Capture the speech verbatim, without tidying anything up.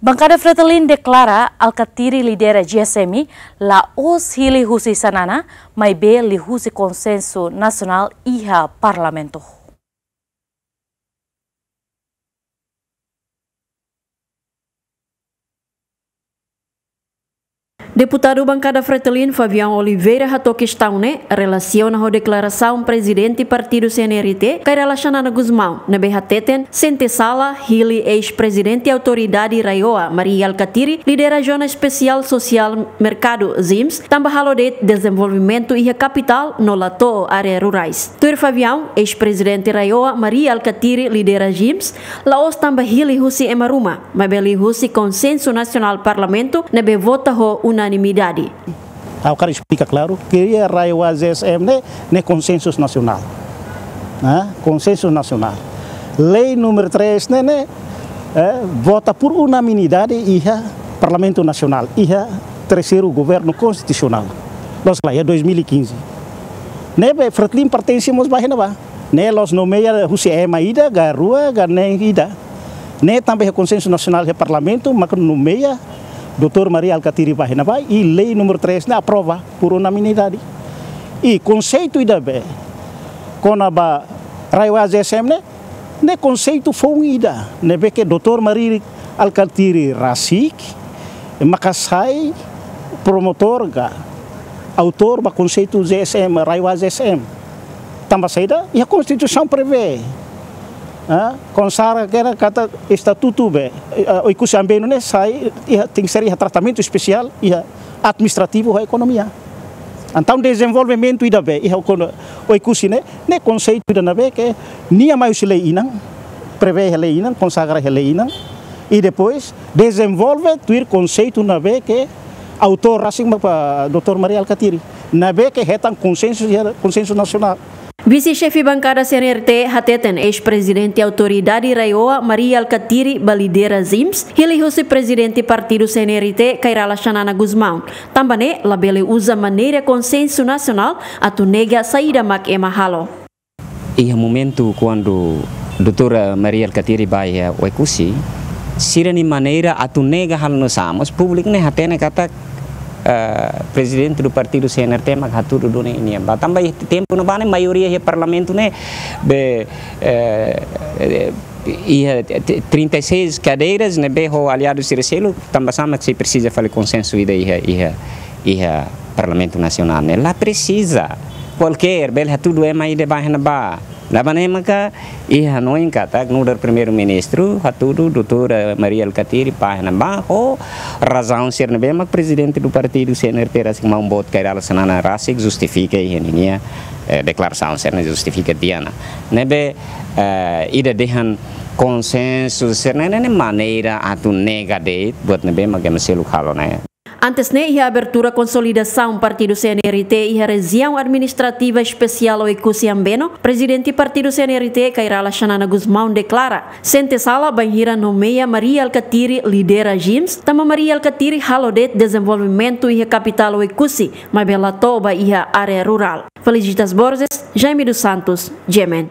Bankada Fretilin deklara Alkatiri lidera G S M la'ós hili husi Xanana, maibé liuhusi konsensu nasionál iha Parlamentu. Deputadu Bankada Fretilin Fabião Oliveira hato'o kestaun ne'e relasiona ho deklarasaun Prezidente Partidu C N R T, Kay Rala Xanana Gusmão, ne'ebé hateten sente sala hili eis-Prezidente Autoridade RAEOA, Mari Alkatiri, lidera Zona Espesiál Sosiál Merkadu, ZEESM, tanba halo de'it dezenvolvimentu iha kapitál no la to'o área rurais. Tuir Fabião, eis-Prezidente RAEOA, Mari Alkatiri, lidera ZEESM, la'ós tanba hili husi ema ruma, maibé liuhusi konsensu nasionál Parlamentu ne'ebé vota ho unanimidade. Ha'u hakarak esplika klaru, kria RAEOA ZEESM ne'e, ne'e konsensu nasionál. Hã? Konsensu nasionál. Lei númeru três ne'e, ne'e, eh, vota por unanimidade iha Parlamentu Nasionál, iha terseiru governu konstitusionál. Loos ka lae, iha dois mil e quinze. Ne'ebé Fretilin pertense mós ba iha ne'ebá. Ne'e la'ós nomeia husi ema ida, ka rua, ka neen ida. Ne'e tanba iha konsensu nasionál iha Parlamentu, maka nomeia doutór Mari Alkatiri ba iha ne'ebá, i lei númeru três ne'e aprova por unanimidade. I konseitu ida be, kona-ba RAEOA ZEESM ne'e, ne'e konseitu foun ida, ne'ebé ke doutór Mari Alkatiri rasik, maka sai promotór ka autór ba konseitu ZEESM, RAEOA ZEESM. Tanba saida, iha Konstituisaun prevee. Ah, konsagra kera katak estatutu be, eh, Oekusi Ambeno ne'e sai, iha, tenke ser iha tratamentu espesiál, iha administrativu ho ekonomia. Entaun dezenvolvimentu ida be, iha kon-, Oekusi ne'e, ne'e konseitu ida ne'ebé ke nia mai husi lei inan, prevee iha lei inan, konsagra iha lei inan, i depois dezenvolve tuir konseitu ne'ebé ke autór rasik mak ba doutór Mari Alkatiri. Ne'ebé ke hetan konsensu, konsensu nasionál. Vise-Xefe Bankada C N R T hateten eis-Prezidente Autoridade RAEOA Mari Alkatiri ba lidera ZEESM, hili husi Prezidente Partidu C N R T Kay Rala Xanana Gusmão. Tanba ne'e labele uza maneira konsensu nasionál atu nega saida mak ema halo. Iha momentu kuandu doutór Mari Alkatiri ba iha Oekusi, sira-nia maneira atu nega halo nu'usá, mas públiku ne'e hatene katak, eh, Prezidente do Partidu C N R T mak hatudu duni nian. Ba tanba iha tempu ne'ebá ne'e maioria iha Parlamentu ne'e be, eh, eh, iha t-, trinta e seis kadeiras ne'ebé ho aliadu sira seluk, tanba sá mak sei presiza fali konsensu ida iha, iha, iha Parlamentu Nasionál ne'e. La presiza. Kualkér, bele hatudu ema ida ba iha ne'ebá. Tanba ne'e maka, iha hanoin katak nu'udar Primeiru-Ministru, hatudu doutór Mari Alkatiri ba iha ne'ebá, ho razaun sira ne'ebé mak Prezidente do Partidu C N R T rasik maun boot Kay Rala Xanana rasik justifika iha ninia, eh, deklarasaun sira ne'e justifika tiha ona. Ne'ebé, eh, ida dehan konsensu sira ne'e, ne'e maneira atu nega de'it buat ne'ebé mak ema seluk halo ne'e. Antes ne'e, iha abertura konsolidasaun Partidu C N R T iha Rejiaun Administrativa Espesiál Oekusi Ambeno, Prezidente Partidu C N R T Kay Rala Xanana Gusmão deklara sente sala bainhira nomeia Mari Alkatiri lidera ZEESM, tanba Mari Alkatiri halo de'it dezenvolvimentu iha kapitál Oekusi, maibé la to'o ba iha área rurál. Felicitas Borges, Jaime dos Santos, G M N.